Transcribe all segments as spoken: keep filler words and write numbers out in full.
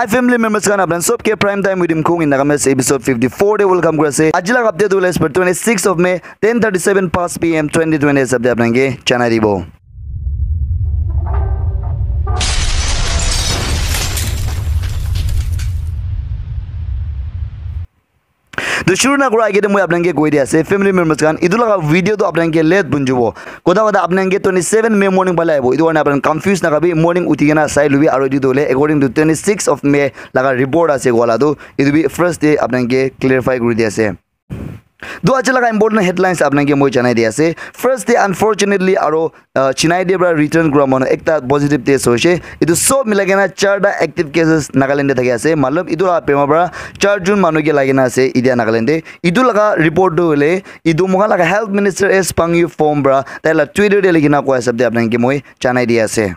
Hi family members khan, apnan sob ke Prime Time with Imkhung in Nagamese episode fifty-four te welcome kuri ase. Aji laga update hoile twenty-six of May, ten thirty-seven past P M twenty twenty hisab te apnan ke janai dibo. To shuru na kura age te moi apnai ke koi di ase, family members khan, etu laga video to apnai ke late bun jibo. Kotha kotha apnai ke twenty-seven May morning phale ahibo. Etu karne apnai confuse na khabi, morning uthi kena sai lubi, aru etu to hoile according to twenty-six of May laga report ase koa la to, etu bi first te apnai ke clarify kuri di ase. To aji laga important headlines apnai ke moi janai di ase. First te unfortunately aru uh, Chennai te para return kura manu ekta positive test hoise. Etu sob milai kena charta active cases Nagaland te thaki ase. Matlab, etu laga bemar para char jon manu ke lagi na ase etia Nagaland te. Etu laga report tu hoile, etu moikhan laga health minister S Pangyu Phom para tai laga Twitter te likhi na koa hisab te apnai ke moi janai di ase.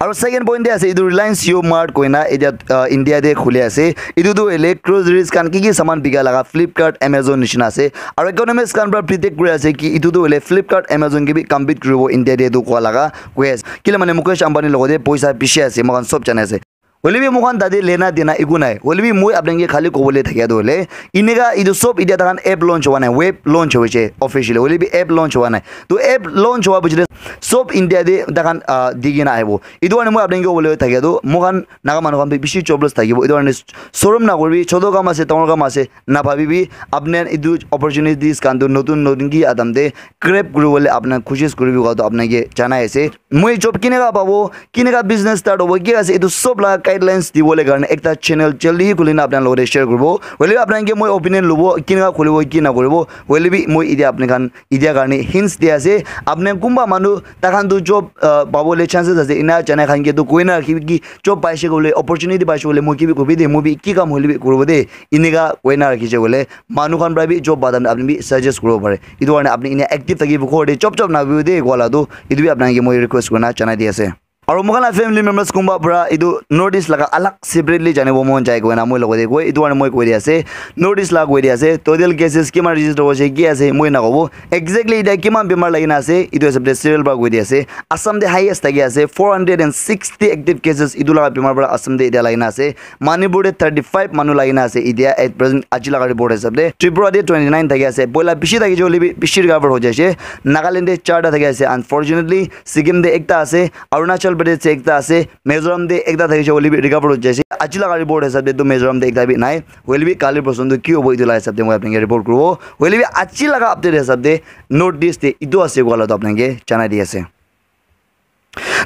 Aru second point te ase, etu Reliance Jio Mart koina etia uh, India te khuli ase. Etu tu hoile groceries khan ki ki saman bika laga Flipkart, Amazon nishina ase. Aru economist khan para predict kuri ase ki etu tu hoile Flipkart, Amazon ke bi compete kuribo India te etu koa laga koi ase. Kile mane Mukesh Ambani logote poisa bishi ase, moikhan sob jane ase. Hoile bi moikhan tate lena dena eku nai. Hoile bi moi apnai ke khali kobole thakia tu hoile, eneka etu sob etia takhan app launch howa nai, web launch hoise officially. Hoile bi app launch howa nai. To app launch howa pichete sob India te takhan uh, di kena ahibo. Etu karne moi apnai ke kobole thakia tu, moikhan Naga manu khan bi bishi jobless thakibo. Etu karne sorom na koribi, choto kam ase, dangor kam ase, na bhabibi. Apni khan etu opportunities khan tu notun notun ki adam te grab kuribole apni khan koshish kuribi koa tu apni ke janai ase. Moi job kineka pabo, kineka business start hobo, ki ase, etu sob laga guidelines dibole karne ekta channel jaldi hi khuli na apni khan logote share kuribo. Hoile bi apni khan ke moi opinion lobo, kineka khulibo, ki na kuribo. Hoile bi moi etia apni khan etia karne hints di ase. Apni khan kunba manu takhan tu job uh, pabole chances ase, ena janai khan ke tu koi na rakhibi ki job paise koile, opportunity paise koile, moi ki bi kobi de, moi bi ki kam hoile bi kuribo de. Eneka koi na rakhi je koile, manu khan para bi job badam apni bi suggest kuribo pare. Etu karne apni enia active thakibo, ghor te chop chop nabibo de koa la tu, etu bi apni khan ke moi request kurina janai di ase. Aru moikhan la family members kunba para etu North East laga alag separately janibo mon jai koina moi logote koi, etu karne moi koi di ase, North East laga koi di ase, total cases kiman register hoise, ki ase, moi nakobo. Exactly etia kiman bemar lagi na ase, etu hisab te serial para koi di ase. Assam te highest thaki ase, four hundred and sixty active cases etu laga bemar para Assam te etia lagi na ase. Manipur te thirty-five manu lagi na ase etia at present aji laga report hisab te. Tripura te twenty-nine thaki ase. Poila bishi thaki hoile bi bishi recover ho jaise. Nagaland te charta thaki ase unfortunately. Sikkim te ekta ase. Arunachal Pradesh te ekta ase. Mizoram te ekta thaki hoile bi recover ho jaise. Aji laga report hisab te tu Mizoram te ekta bi nai. Hoile bi kali porson tu ki hobo etu laga hisab te moi apni ke report kuribo. Hoile bi aji laga update hisab te North East te etu ase koa la tu apni ke janai di ase.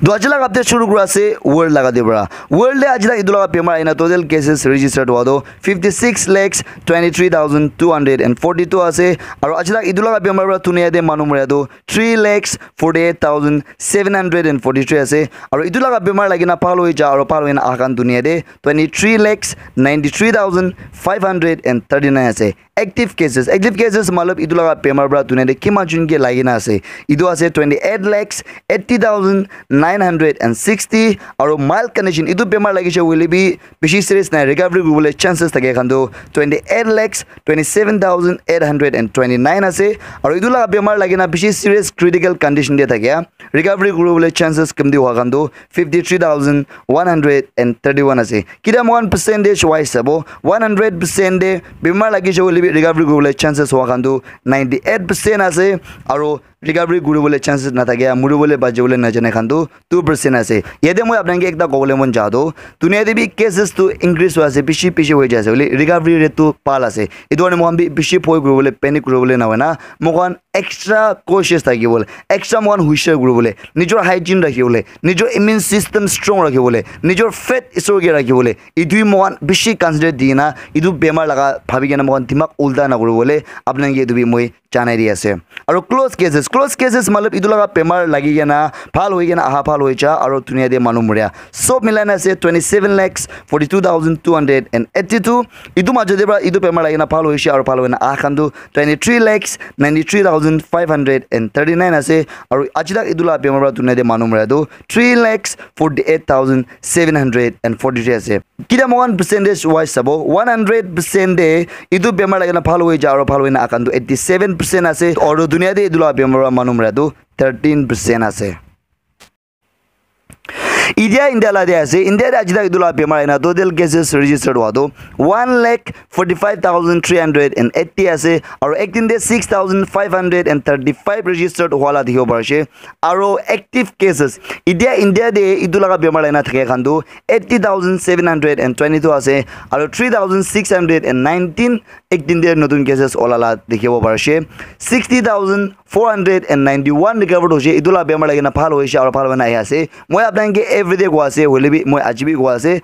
To aji laga update shuru kura ase world laga te para. World te aji laga etu laga bemar ahina total cases registered hua to fifty six lakhs twenty three thousand two hundred and forty two ase. Aru aji laga etu laga bemar para dunia te manu moria to three lakhs forty eight thousand seven hundred and forty three ase. Aru etu laga bemar lagi na bhal hoi ja aru bhal hoi na aha khan dunia te twenty three lakhs ninety three thousand five hundred and thirty nine ase. Active cases, active cases matlab etu laga bemar para dunia te kiman jon ke lagi na ase, etu ase twenty eight lakhs eighty thousand nine hundred and sixty. Aru mild condition, etu bemar lagise hoile bi bishi serious nai, recovery kuribole chances thake khan tu twenty eight lakhs twenty seven thousand eight hundred and twenty nine ase. Aru etu laga bemar lagi na bishi serious critical condition te thake, recovery kuribole chances kamti hua khan tu fifty three thousand one hundred and thirty one ase. Kita moikhan percentage wise sabo, one hundred percent te bemar lagise hoile bi recovery kuribole chances hua khan tu ninety eight percent ase, aru recovery kuribole chances nathakia, muribole bachibole najane khan tu two percent ase. Yate moi apni khan ke ekta kobole mon ja tu, dunia te bi cases tu increase hoi ase, bishi bishi hoi jai ase, hoile recovery rate tu bhal ase. Etu karne moikhan bi bishi bhoi kuribole, panic kuribole na hoina, moikhan extra cautious thakibole, extra moikhan hushar kuribole, nijor hygiene rakhibole, nijor immune system strong rakhibole, nijor faith isor ke rakhibole, etu hi moikhan bishi consider di na, etu bemar laga bhabi kena moikhan dimag ulta na kuribole, apni khan ke etu bi moi janai di ase. Aru close cases, close cases matlab etu laga bemar lagi kena bhal hoi kena aha, bhal hoi ja aru dunia te manu moria, sob milai na ase twenty seven lakhs forty two thousand two hundred and eighty two. Etu majo te para etu bemar lagi na bhal hoise aru bhal hoi na aha khan tu twenty three lakhs ninety three thousand five hundred and thirty nine ase. Aru aji tak etu laga bemar para dunia te manu moria tu three lakhs forty eight thousand seven hundred and forty three ase. Kita moikhan percentage wise sabo, one hundred percent te etu bemar lagi na bhal hoi ja aru bhal hoi na aha khan tu eighty seven percent ase. Aru dunia te etu laga bemar para manu moria tu thirteen percent ase. India, India la de ase, India de aji tak etu la bemar aina total cases registered hua tu one lakh forty five thousand three hundred and eighty ase, aru ek din de six thousand five hundred and thirty five registered hua la dikhibo pari ase. Aru active cases, India, India de etu laga bemar aina thake khan tu eighty thousand seven hundred and twenty two ase, aru three thousand six hundred and nineteen ek din de notun cases ola la dikhibo pari ase. Sixty thousand four hundred and ninety one recovered hoise, etu la bemar lagi na bhal hoise aru bhal hoi na ahi ase. Moi apnai ke everyday koa ase, hoile bi moi aji bi koa ase.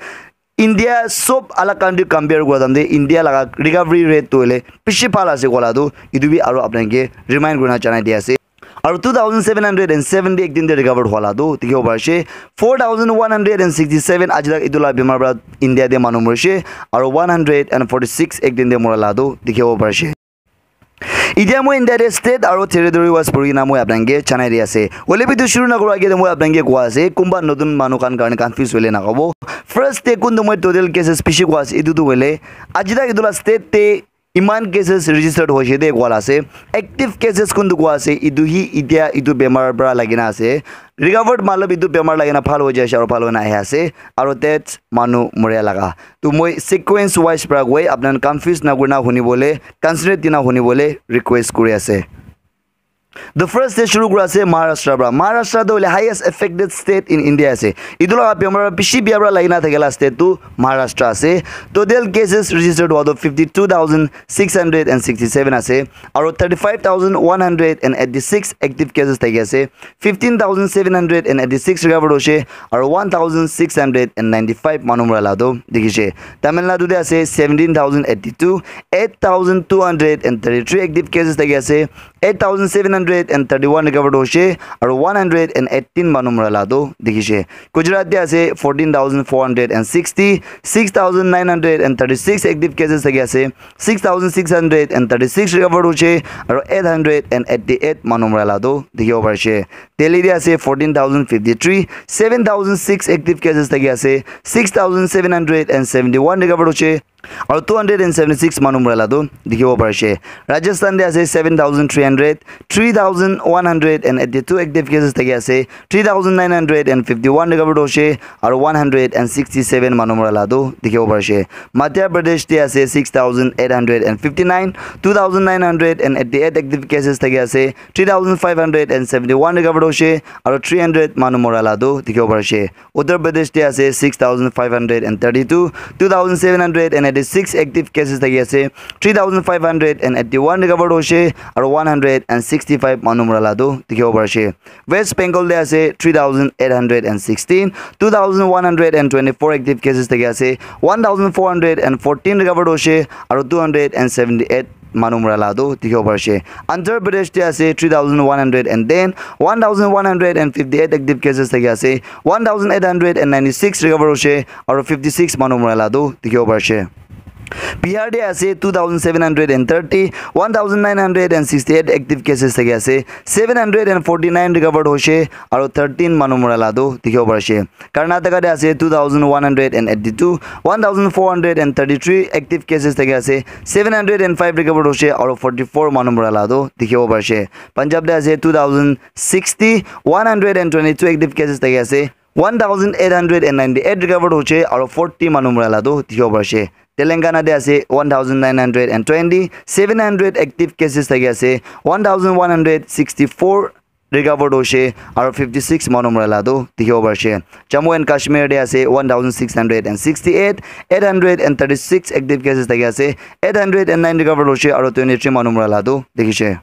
India sob alag country compare kura time te India laga recovery rate tu hoile bishi bhal ase koa la tu, etu bi aru apnai ke remind kurina janai di ase. Aru two thousand seven hundred and seventy ek din te recovered hua la tu dikhibo pari ase. Four thousand one hundred and sixty seven aji tak etu la bemar para India te manu morise, aru one hundred and forty six ek din te mora la tu dikhibo pari ase. Etia moi India te state aru territory wise puri kena moi apnai ke janai di ase. Hoile bi tu shuru na kura age te moi apnai ke koa ase, kunba notun manu khan karne confuse hoile na hobo. First te kun tu moi total cases bishi koa ase, etu tu hoile aji tak etu la state te iman cases registered hoise de koa la ase. Active cases kun tu koa ase, etu hi etia etu bemar para lagi na ase. Recovered matlab etu bemar lagi na bhal hoi jai ase aru bhal hoi na ahi ase. Aru death manu moria laga. To moi sequence wise para koi, apnan confuse na kurina huni bole, concentrate dina huni bole request kuri ase. The first te shuru kura ase Maharashtra para. Maharashtra to hoile highest affected state in India ase. Etu laga bemar bishi bia para lagi na thakela state tu Maharashtra ase. Total cases registered hua to fifty two thousand six hundred and sixty seven ase. Aru thirty five thousand one hundred and eighty six active cases thaki ase. Fifteen thousand seven hundred and eighty six recovered hoise, aru one thousand six hundred and ninety five manu mora la tu dikhi ase. Tamil Nadu te ase seventeen thousand eighty two, eight thousand two hundred and thirty three active cases thaki ase, eight thousand seven hundred and thirty one recovered hoise, aru one hundred and eighteen manu mora la tu dikhi ase. Gujarat te ase fourteen thousand four hundred and sixty, six thousand nine hundred and thirty six active cases thaki ase, six thousand six hundred and thirty six recovered hoise, aru eight hundred and eighty eight manu mora la tu dikhibo pari ase. Delhi te ase fourteen thousand fifty three, seven thousand six active cases thaki ase, six thousand seven hundred and seventy one recovered hoise, aru two hundred and seventy six manu mora la tu dikhibo pari ase. Rajasthan te ase seven thousand three hundred, three thousand one hundred and eighty two active cases thaki ase, three thousand nine hundred and fifty one recovered hoise, aru one hundred and sixty seven manu mora la tu dikhibo pari ase. Madhya Pradesh te ase six thousand eight hundred and fifty nine, two thousand nine hundred and eighty eight active cases thaki ase, three thousand five hundred and seventy one recovered hoise, aru three hundred manu mora la tu dikhibo pari ase. Uttar Pradesh te ase six thousand five hundred and thirty two, two thousand seven hundred and eighty six active cases thaki ase, three thousand five hundred and eighty one recovered hoise, aru one hundred and sixty five manu mora la tu dikhibo pari ase. West Bengal te ase three thousand eight hundred and sixteen, two thousand one hundred and twenty four active cases thaki ase, one thousand four hundred and fourteen recovered hoise, aru two hundred and seventy eight manu mora la tu dikhibo pari ase. Andhra Pradesh te ase three thousand one hundred and ten, one thousand one hundred and fifty eight active cases thaki ase, one thousand eight hundred and ninety six recover hoise, aru fifty six manu mora la tu dikhibo pari ase. Bihar te ase two thousand seven hundred and thirty, one thousand nine hundred and sixty eight active cases thaki ase, seven hundred and forty nine recovered hoise, aru thirteen manu mora la tu dikhibo pari ase. Karnataka te ase two thousand one hundred and eighty two, one thousand four hundred and thirty three active cases thaki ase, seven hundred and five recovered hoise, aru forty four manu mora la tu dikhibo pari ase. Punjab te ase two thousand sixty, one hundred and twenty two active cases thaki ase, one thousand eight hundred and ninety eight recovered hoise, aru forty manu mora la tu dikhibo pari ase. Telangana te ase one thousand nine hundred and twenty, seven hundred active cases thaki ase, one thousand one hundred sixty four recovered hoise, aru fifty six manu mora la tu dikhibo pari ase. Jammu and Kashmir te ase one thousand six hundred and sixty eight, eight hundred and thirty six active cases thaki ase, eight hundred and nine recovered hoise, aru twenty three manu mora la tu dikhi ase.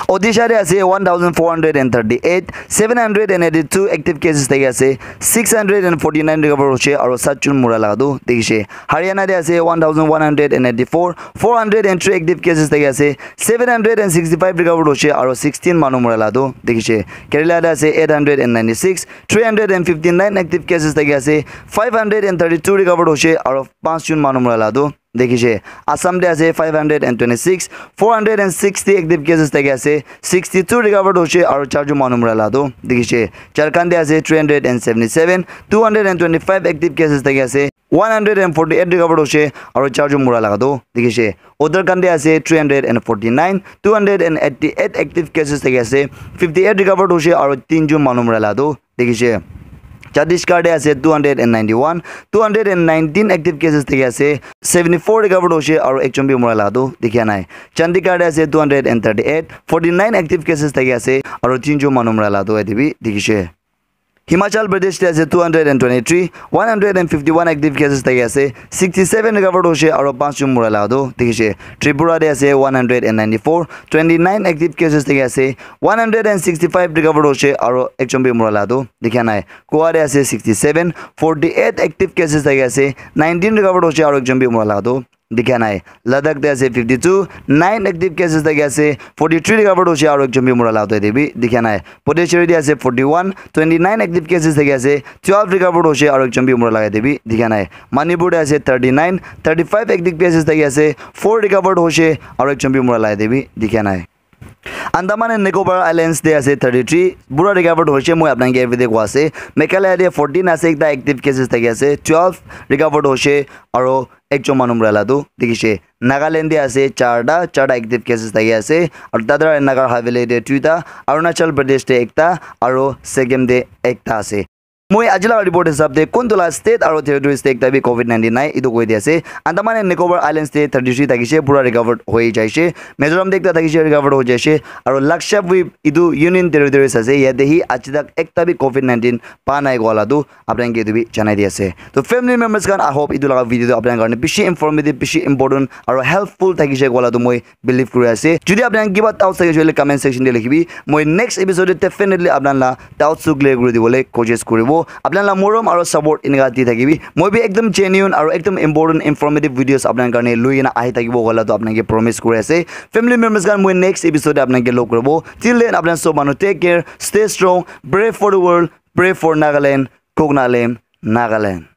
Odisha te ase one thousand four hundred and thirty eight, seven hundred and eighty two active cases thaki ase, six hundred and forty nine recover hoise, aru sat jon mura laga tu dikhi ase. Haryana te ase one thousand one hundred and eighty four, four hundred and three active cases thaki ase, seven hundred and sixty five recover hoise, aru sixteen manu mura laga tu dikhi ase. Kerala te ase eight hundred and ninety six, three hundred and fifty nine active cases thaki ase, five hundred and thirty two recover hoise, aru panch jon manu mura laga tu dikhi ase. Assam te ase five hundred and twenty six, four hundred and sixty active cases thaki ase, sixty two recovered hoise, aru char jon manu mura laga tu dikhi ase. Jharkhand te ase three hundred and seventy seven, two hundred and twenty five active cases thaki ase, one hundred and forty eight recovered hoise, aru char jon mura laga tu dikhi ase. Uttarakhand te ase three hundred and forty nine, two hundred and eighty eight active cases thaki ase, fifty eight recovered hoise, aru tin jon manu mura laga tu dikhi ase. Chhattisgarh te ase two hundred and ninety-one, two hundred and nineteen active cases thaki ase, seventy-four recovered hoise aru ekjon bi mura laga tu dikha nai. Chandigarh te ase two hundred and thirty-eight, forty-nine active cases thaki ase aru tinjon manu mura laga tu yate bi dikhishe. Himachal Pradesh te ase two hundred and twenty-three, one hundred and fifty-one active cases thaki ase, sixty-seven recovered hoise aru panch jon mura laga tu dikhishe. Tripura te ase one hundred and ninety-four, twenty-nine active cases thaki ase, one hundred and sixty-five recovered hoise aru ekjon bi mura laga tu dikha nai. Goa te ase sixty-seven, forty-eight active cases thaki ase, nineteen recovered hoise aru ekjon bi mura laga tu dikha nai. Ladakh te ase fifty-two, nine active cases thaki ase, forty-three recovered hoise aru ekjon bi mura laga tu yate bi dikha nai. Puducherry te ase forty-one, twenty-nine active cases thaki ase, twelve recovered hoise aru ekjon bi mura laga yate bi dikha nai. Manipur te ase thirty-nine, thirty-five active cases thaki ase, four recovered hoise aru ekjon bi mura laga yate bi dikha nai. Andaman and Nicobar Islands te ase thirty-three, pura recovered hoise, moi apnai ke everyday koi ase. Meghalaya te fourteen ase, ekta active cases thaki ase, twelve recovered hoise, aru ekjon manu mura laga tu dikhishe. Nagaland te ase charta, charta active cases thaki ase, aru Dadra and Nagar Haveli te duita, Arunachal Pradesh te ekta, aru Sikkim te ekta ase. Moi aji laga report hisab te kuntu laga state aru territories te ekta bi covid nineteen nai, etu koi di ase. Andaman and Nicobar Islands te thirty-three thakishe, pura recovered hoi jaishe. Mizoram te ekta thakishe, recovered hoi jaishe. Aru Lakshadweep, etu Union Territories ase, yate hi aji tak ekta bi covid nineteen pa nai koa laga tu apnai ke etu bi janai di ase. To family members khan, I hope etu laga video tu apnai karne bishi informative, bishi important aru helpful thakishe koa laga tu moi believe kuri ase. Jodi apni khan kiba doubts thakishe koile comment section te likhibi. Moi next episode te definitely apni khan laga doubts tu clear kuri dibole koshish kuribo. Apni khan laga morom aru support enika di thakibi. Moi bi ekdom genuine aru ekdom important informative videos apni khan karne loi kena ahi thakibo koa laga tu apni khan ke promise kuri ase. Family members khan, moi next episode te apni khan ke log kuribo. Till then, apni khan sob manu take care, stay strong, pray for the world, pray for Nagaland, Kok Nalem, Nagaland.